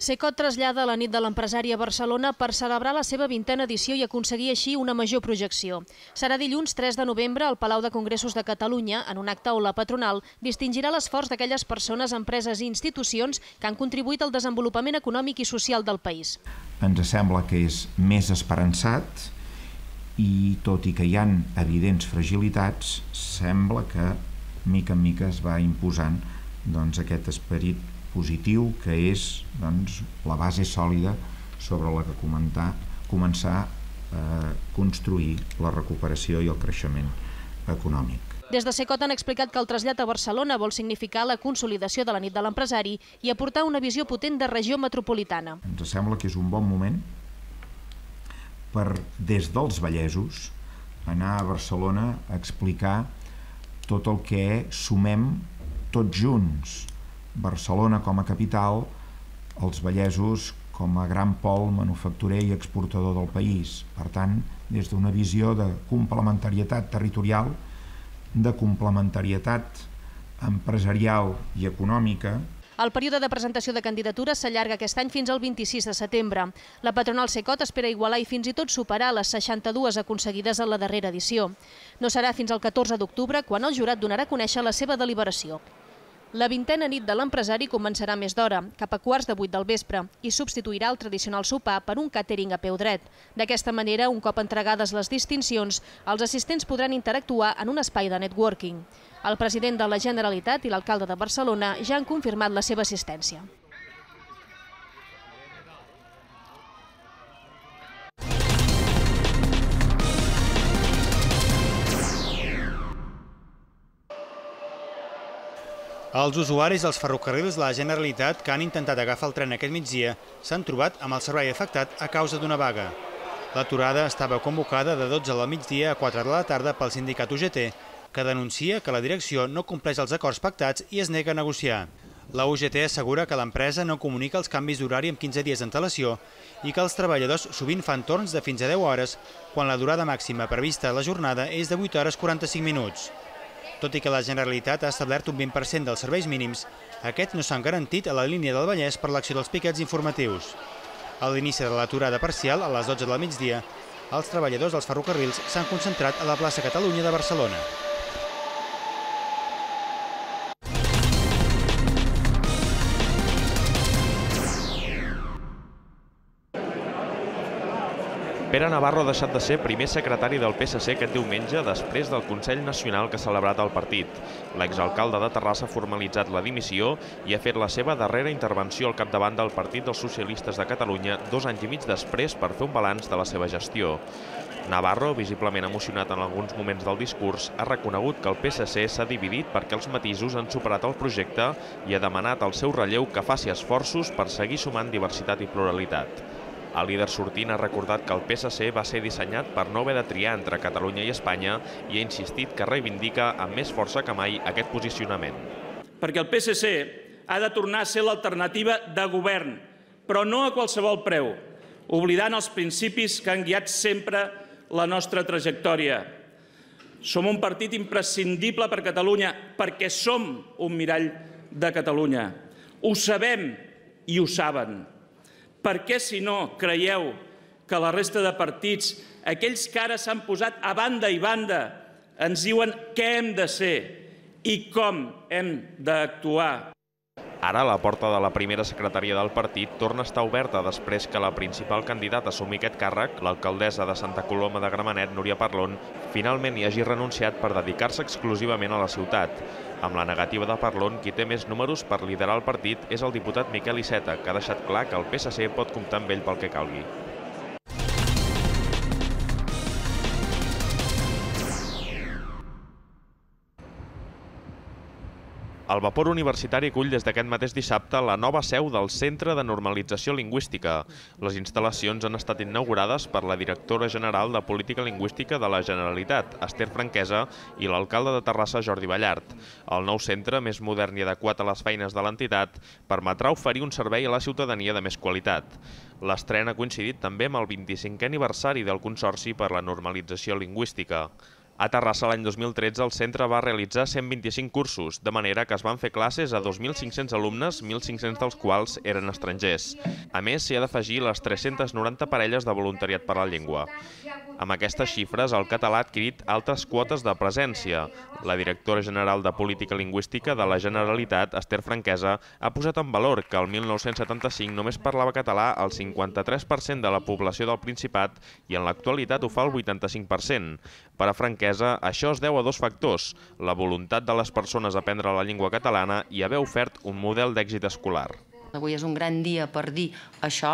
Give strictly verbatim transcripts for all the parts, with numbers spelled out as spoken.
Cecot trasllada la nit de l'empresari a Barcelona per celebrar la seva vintena edició i aconseguir així una major projecció. Serà dilluns tres de novembre al Palau de Congressos de Catalunya, en un acte on la patronal distingirà l'esforç d'aquelles persones, empreses i institucions que han contribuït al desenvolupament econòmic i social del país. Ens sembla que és més esperançat i, tot i que hi ha evidents fragilitats, sembla que mica en mica es va imposant doncs, aquest esperit positiu que és doncs, la base sòlida sobre la que comentar, començar a construir la recuperació i el creixement econòmic. Des de Cecot han explicat que el trasllat a Barcelona vol significar la consolidació de la nit de l'empresari i aportar una visió potent de regió metropolitana. Ens sembla que és un bon moment per, des dels Vallesos, anar a Barcelona a explicar tot el que sumem tots junts. Barcelona com a capital, els Vallesos com a gran pol manufacturer i exportador del país. Per tant, des d'una visió de complementarietat territorial, de complementarietat empresarial i econòmica. El període de presentació de candidatures s'allarga aquest any fins al vint-i-sis de setembre. La patronal Cecot espera igualar i fins i tot superar les seixanta-dues aconseguides en la darrera edició. No serà fins al catorze d'octubre quan el jurat donarà a conèixer la seva deliberació. La vintena nit de l'empresari començarà més d'hora, cap a quarts de vuit del vespre, i substituirà el tradicional sopar per un càtering a peu dret. D'aquesta manera, un cop entregades les distincions, els assistents podran interactuar en un espai de networking. El president de la Generalitat i l'alcalde de Barcelona ja han confirmat la seva assistència. Els usuaris dels ferrocarrils de la Generalitat que han intentat agafar el tren aquest migdia s'han trobat amb el servei afectat a causa d'una vaga. L'aturada estava convocada de dotze del migdia a quatre de la tarda pel sindicat U G T, que denuncia que la direcció no compleix els acords pactats i es nega a negociar. La U G T assegura que l'empresa no comunica els canvis d'horari amb quinze dies d'antelació i que els treballadors sovint fan torns de fins a deu hores, quan la durada màxima prevista a la jornada és de vuit hores quaranta-cinc minuts. Tot i que la Generalitat ha establert un vint per cent dels serveis mínims, aquests no s'han garantit a la línia del Vallès per l'acció dels piquets informatius. A l'inici de l'aturada parcial, a les dotze del migdia, els treballadors dels ferrocarrils s'han concentrat a la plaça Catalunya de Barcelona. Pere Navarro ha deixat de ser primer secretari del P S C aquest diumenge després del Consell Nacional que ha celebrat el partit. L'exalcalde de Terrassa ha formalitzat la dimissió i ha fet la seva darrera intervenció al capdavant del Partit dels Socialistes de Catalunya dos anys i mig després per fer un balanç de la seva gestió. Navarro, visiblement emocionat en alguns moments del discurs, ha reconegut que el P S C s'ha dividit perquè els matisos han superat el projecte i ha demanat al seu relleu que faci esforços per seguir sumant diversitat i pluralitat. El líder sortint ha recordat que el P S C va ser dissenyat per no haver de triar entre Catalunya i Espanya i ha insistit que reivindica amb més força que mai aquest posicionament. Perquè el P S C ha de tornar a ser l'alternativa de govern, però no a qualsevol preu, oblidant els principis que han guiat sempre la nostra trajectòria. Som un partit imprescindible per Catalunya perquè som un mirall de Catalunya. Ho sabem i ho saben. Per què, si no, creieu que la resta de partits, aquells que ara s'han posat a banda i banda, ens diuen què hem de ser i com hem d'actuar? Ara la porta de la primera secretaria del partit torna a estar oberta després que la principal candidata a assumir aquest càrrec, l'alcaldessa de Santa Coloma de Gramenet, Núria Parlon, finalment hi hagi renunciat per dedicar-se exclusivament a la ciutat. Amb la negativa de Parlon, qui té més números per liderar el partit és el diputat Miquel Iceta, que ha deixat clar que el P S C pot comptar amb ell pel que calgui. El Vapor Universitari acull des d'aquest mateix dissabte la nova seu del Centre de Normalització Lingüística. Les instal·lacions han estat inaugurades per la directora general de Política Lingüística de la Generalitat, Esther Franquesa, i l'alcalde de Terrassa, Jordi Ballart. El nou centre, més modern i adequat a les feines de l'entitat, permetrà oferir un servei a la ciutadania de més qualitat. L'estrena ha coincidit també amb el vint-i-cinquè aniversari del Consorci per la Normalització Lingüística. A Terrassa l'any dos mil tretze el centre va realitzar cent vint-i-cinc cursos, de manera que es van fer classes a dos mil cinc-cents alumnes, mil cinc-cents dels quals eren estrangers. A més, s'hi ha d'afegir les tres-centes noranta parelles de voluntariat per la llengua. Amb aquestes xifres, el català ha adquirit altres quotes de presència. La directora general de Política Lingüística de la Generalitat, Esther Franquesa, ha posat en valor que el mil nou-cents setanta-cinc només parlava català el cinquanta-tres per cent de la població del Principat i en l'actualitat ho fa el vuitanta-cinc per cent. Per a Franquesa, això es deu a dos factors: la voluntat de les persones a aprendre la llengua catalana i haver ofert un model d'èxit escolar. Avui és un gran dia per dir això,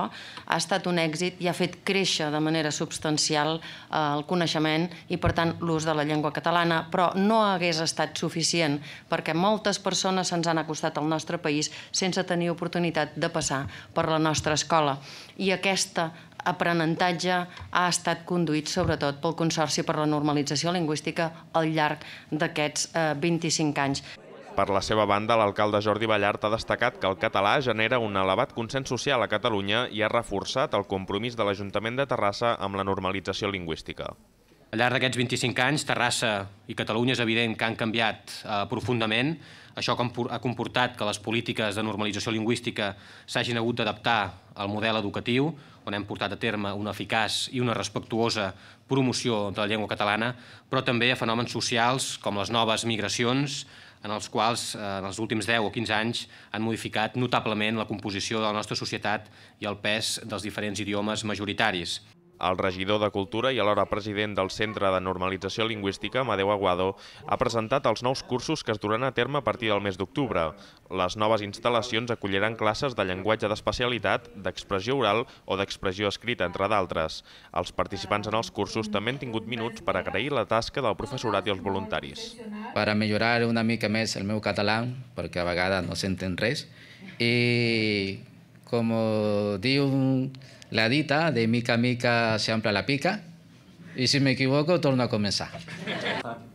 ha estat un èxit i ha fet créixer de manera substancial el coneixement i, per tant, l'ús de la llengua catalana, però no hagués estat suficient perquè moltes persones se'ns han acostat al nostre país sense tenir oportunitat de passar per la nostra escola. I aquesta aprenentatge ha estat conduït sobretot pel Consorci per la Normalització Lingüística al llarg d'aquests vint-i-cinc anys. Per la seva banda, l'alcalde Jordi Ballart ha destacat que el català genera un elevat consens social a Catalunya i ha reforçat el compromís de l'Ajuntament de Terrassa amb la normalització lingüística. Al llarg d'aquests vint-i-cinc anys, Terrassa i Catalunya és evident que han canviat eh, profundament. Això ha comportat que les polítiques de normalització lingüística s'hagin hagut d'adaptar al model educatiu, on hem portat a terme una eficaç i una respectuosa promoció de la llengua catalana, però també a fenòmens socials com les noves migracions, en els quals en els últims deu o quinze anys han modificat notablement la composició de la nostra societat i el pes dels diferents idiomes majoritaris. El regidor de Cultura i alhora president del Centre de Normalització Lingüística, Amadeu Aguado, ha presentat els nous cursos que es duran a terme a partir del mes d'octubre. Les noves instal·lacions acolliran classes de llenguatge d'especialitat, d'expressió oral o d'expressió escrita, entre d'altres. Els participants en els cursos també han tingut minuts per agrair la tasca del professorat i els voluntaris. Per a millorar una mica més el meu català, perquè a vegades no s'entén res, i com diu la dita, de mica a mica s'ampla la pica, i si m'equivoco torno a començar.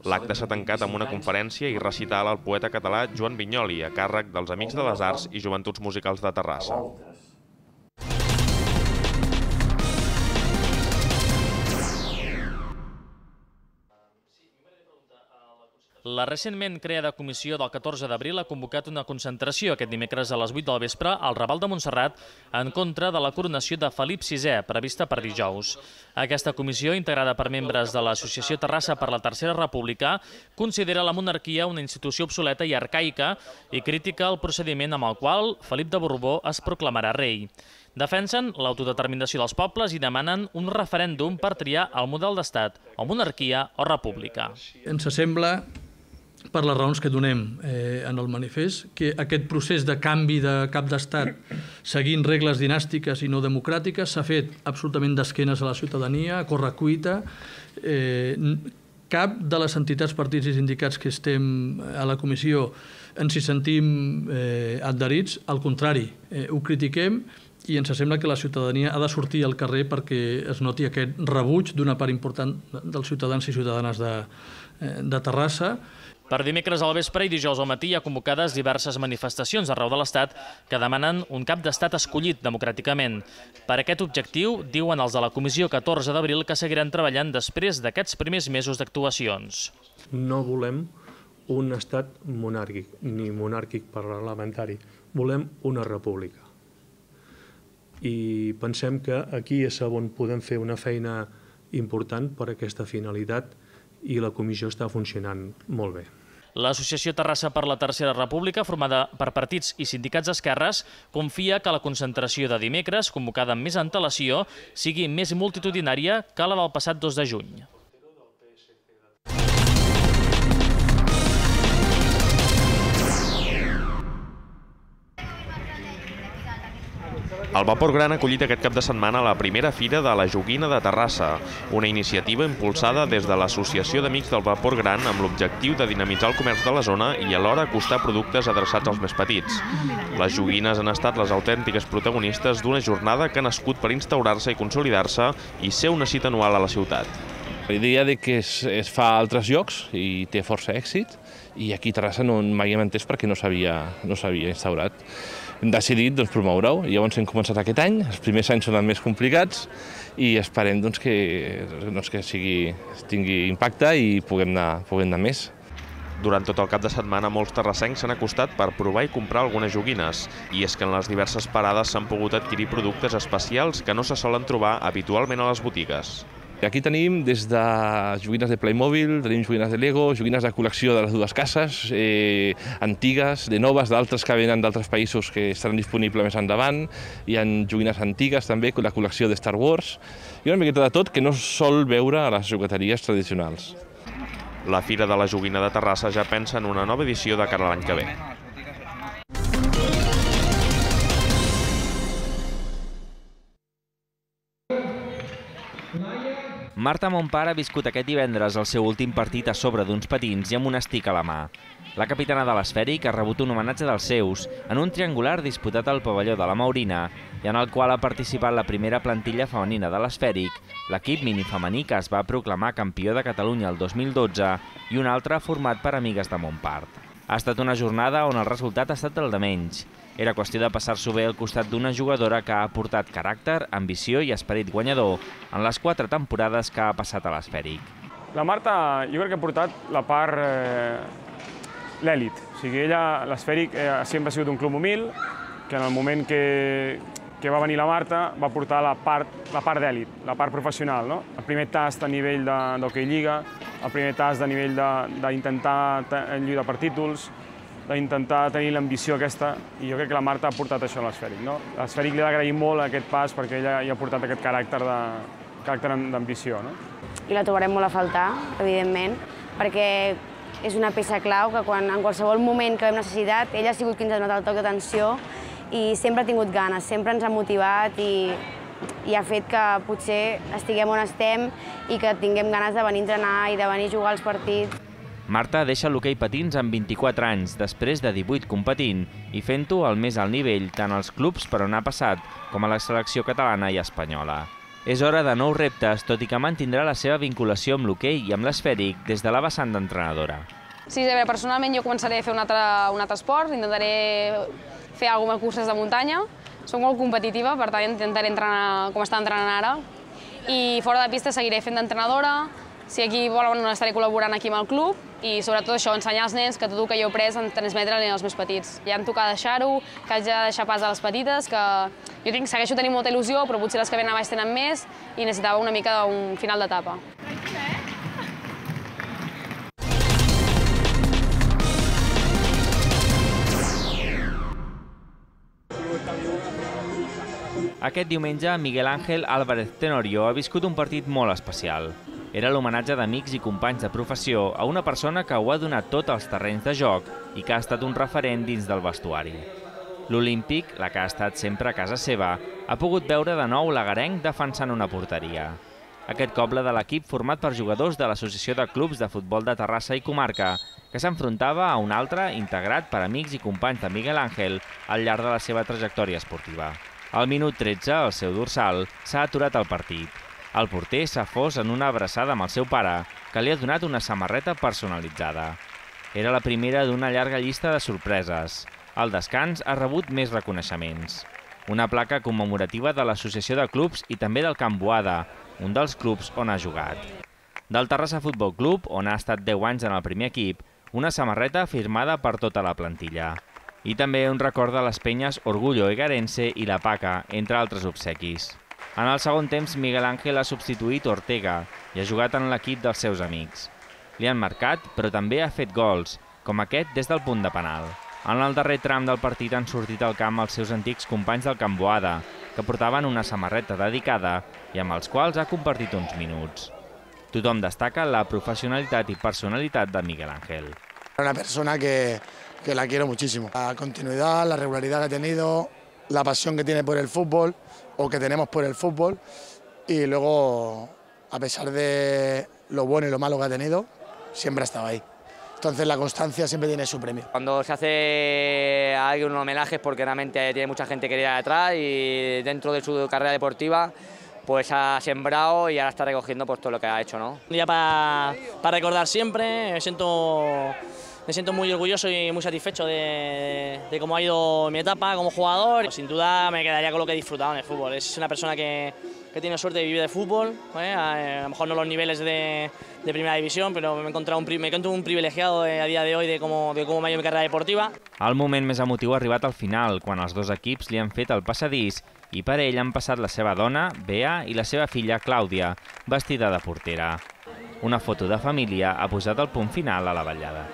L'acte s'ha tancat amb una conferència i recital al poeta català Joan Vinyoli, a càrrec dels Amics de les Arts i Joventuts Musicals de Terrassa. La recentment creada comissió del catorze d'abril ha convocat una concentració aquest dimecres a les vuit del vespre al Raval de Montserrat en contra de la coronació de Felip sisè, prevista per dijous. Aquesta comissió, integrada per membres de l'Associació Terrassa per la Tercera República, considera la monarquia una institució obsoleta i arcaica i critica el procediment amb el qual Felip de Borbó es proclamarà rei. Defensen l'autodeterminació dels pobles i demanen un referèndum per triar el model d'estat, o monarquia o república. Ens sembla, per les raons que donem eh, en el manifest, que aquest procés de canvi de cap d'estat seguint regles dinàstiques i no democràtiques s'ha fet absolutament d'esquenes a la ciutadania, a correcuita. Eh, cap de les entitats, partits i sindicats que estem a la comissió ens hi sentim eh, adherits, al contrari, eh, ho critiquem i ens sembla que la ciutadania ha de sortir al carrer perquè es noti aquest rebuig d'una part important dels ciutadans i ciutadanes de, de Terrassa. Per dimecres al vespre i dijous al matí hi ha convocades diverses manifestacions arreu de l'Estat que demanen un cap d'estat escollit democràticament. Per aquest objectiu, diuen els de la Comissió catorze d'abril que seguiran treballant després d'aquests primers mesos d'actuacions. No volem un estat monàrquic, ni monàrquic parlamentari. Volem una república. I pensem que aquí és on podem fer una feina important per a aquesta finalitat i la comissió està funcionant molt bé. L'Associació Terrassa per la Tercera República, formada per partits i sindicats d'esquerres, confia que la concentració de dimecres, convocada amb més antelació, sigui més multitudinària que la del passat dos de juny. El Vapor Gran ha acollit aquest cap de setmana la primera Fira de la Joguina de Terrassa, una iniciativa impulsada des de l'Associació d'Amics del Vapor Gran amb l'objectiu de dinamitzar el comerç de la zona i alhora acostar productes adreçats als més petits. Les joguines han estat les autèntiques protagonistes d'una jornada que ha nascut per instaurar-se i consolidar-se i ser una cita anual a la ciutat. La idea de que es, es fa a altres llocs i té força èxit i aquí a Terrassa no mai hem entès perquè no s'havia no s'havia instaurat. hem decidit doncs, promoure-ho. Llavors hem començat aquest any, els primers anys són els més complicats i esperem doncs, que, doncs, que sigui, tingui impacte i puguem anar, puguem anar més. Durant tot el cap de setmana, molts terrassencs s'han acostat per provar i comprar algunes joguines. I és que en les diverses parades s'han pogut adquirir productes especials que no se solen trobar habitualment a les botigues. Aquí tenim des de joguines de Playmobil, tenim joguines de Lego, joguines de col·lecció de les dues cases, eh, antigues, de noves, d'altres que venen d'altres països que estaran disponibles més endavant. Hi ha joguines antigues també, la col·lecció de Star Wars, i una miqueta de tot que no sol veure a les jogueteries tradicionals. La Fira de la Joguina de Terrassa ja pensa en una nova edició de cara a l'any que ve. Marta Montpar ha viscut aquest divendres el seu últim partit a sobre d'uns patins i amb un estic a la mà. La capitana de l'Esfèric ha rebut un homenatge dels seus en un triangular disputat al pavelló de la Maurina i en el qual ha participat la primera plantilla femenina de l'Esfèric, l'equip minifemení que es va proclamar campió de Catalunya el dos mil dotze i un altre format per amigues de Montpart. Ha estat una jornada on el resultat ha estat el de menys. Era qüestió de passar-s'ho bé al costat d'una jugadora que ha aportat caràcter, ambició i esperit guanyador en les quatre temporades que ha passat a l'Esfèric. La Marta jo crec que ha portat la part eh, l'èlit. O sigui, ella, l'Esfèric, eh, sempre ha sigut un club humil, que en el moment que, que va venir la Marta va portar la part, la part d'èlit, la part professional. No? El primer tast a nivell d'Hockey Lliga, el primer tast a nivell d'intentar lluitar per títols, d'intentar tenir l'ambició aquesta, i jo crec que la Marta ha portat això a l'Esfèric. No? L'Esfèric li ha d'agrair molt aquest pas perquè ella hi ha portat aquest caràcter d'ambició. No? I la trobarem molt a faltar, evidentment, perquè és una peça clau que quan, en qualsevol moment que hem necessitat, ella ha sigut qui ens ha donat el toc d'atenció i sempre ha tingut ganes, sempre ens ha motivat i, i ha fet que potser estiguem on estem i que tinguem ganes de venir a entrenar i de venir a jugar als partits. Marta deixa l'hoquei patins amb vint-i-quatre anys, després de divuit competint i fent-ho al més alt nivell, tant als clubs per on ha passat com a la selecció catalana i espanyola. És hora de nous reptes, tot i que mantindrà la seva vinculació amb l'hoquei i amb l'Esfèric des de la vessant d'entrenadora. Sí, a veure, personalment jo començaré a fer un altre, un altre esport, intentaré fer algunes curses de muntanya. Soc molt competitiva, per tant intentaré entrenar com està entrenant ara. I fora de pista seguiré fent d'entrenadora. Si aquí volen, estaré col·laborant aquí amb el club i sobretot això, ensenyar als nens que tot el que jo he après transmetre-li als més petits. Ja em toca deixar-ho, que haig de deixar pas a les petites, que jo tinc, segueixo tenint molta il·lusió, però potser les que venen a baix tenen més i necessitava una mica d'un final d'etapa. Aquest diumenge, Miguel Ángel Álvarez Tenorio ha viscut un partit molt especial. Era l'homenatge d'amics i companys de professió a una persona que ho ha donat tot als terrenys de joc i que ha estat un referent dins del vestuari. L'Olímpic, la que ha estat sempre a casa seva, ha pogut veure de nou l'agarenc defensant una porteria. Aquest cop la de l'equip format per jugadors de l'Associació de Clubs de Futbol de Terrassa i Comarca, que s'enfrontava a un altre integrat per amics i companys de Miguel Ángel al llarg de la seva trajectòria esportiva. Al minut tretze, al seu dorsal, s'ha aturat el partit. El porter s'ha fos en una abraçada amb el seu pare, que li ha donat una samarreta personalitzada. Era la primera d'una llarga llista de sorpreses. Al descans ha rebut més reconeixements. Una placa commemorativa de l'Associació de Clubs i també del Camp Boada, un dels clubs on ha jugat. Del Terrassa Futbol Club, on ha estat deu anys en el primer equip, una samarreta firmada per tota la plantilla. I també un record de les penyes Orgullo Egarense i la Paca, entre altres obsequis. En el segon temps, Miguel Ángel ha substituït Ortega i ha jugat en l'equip dels seus amics. Li han marcat, però també ha fet gols, com aquest des del punt de penal. En el darrer tram del partit han sortit al camp els seus antics companys del Camp Boada, que portaven una samarreta dedicada i amb els quals ha compartit uns minuts. Tothom destaca la professionalitat i personalitat de Miguel Ángel. Una persona que, que la quiero muchísimo. La continuidad, la regularidad que ha tenido, la pasión que tiene por el fútbol, o que tenemos por el fútbol, y luego, a pesar de lo bueno y lo malo que ha tenido, siempre ha estado ahí. Entonces la constancia siempre tiene su premio. Cuando se hace a alguien un homenaje es porque realmente tiene mucha gente querida detrás y dentro de su carrera deportiva pues ha sembrado y ahora está recogiendo pues todo lo que ha hecho, ¿no? Un día para, para recordar siempre, me siento me siento muy orgulloso y muy satisfecho de, de cómo ha ido mi etapa como jugador. Sin duda me quedaría con lo que he disfrutado en el fútbol. Es una persona que, que tiene suerte de vivir de fútbol, ¿eh? a, a lo mejor no los niveles de, de primera división, pero me he encontrado un, me encuentro un privilegiado de, a dia de hoy de cómo, de cómo m'ha ido mi carrera deportiva. El moment més emotiu ha arribat al final, quan els dos equips li han fet el passadís i per ell han passat la seva dona, Bea, i la seva filla, Clàudia, vestida de portera. Una foto de família ha posat el punt final a la vetllada.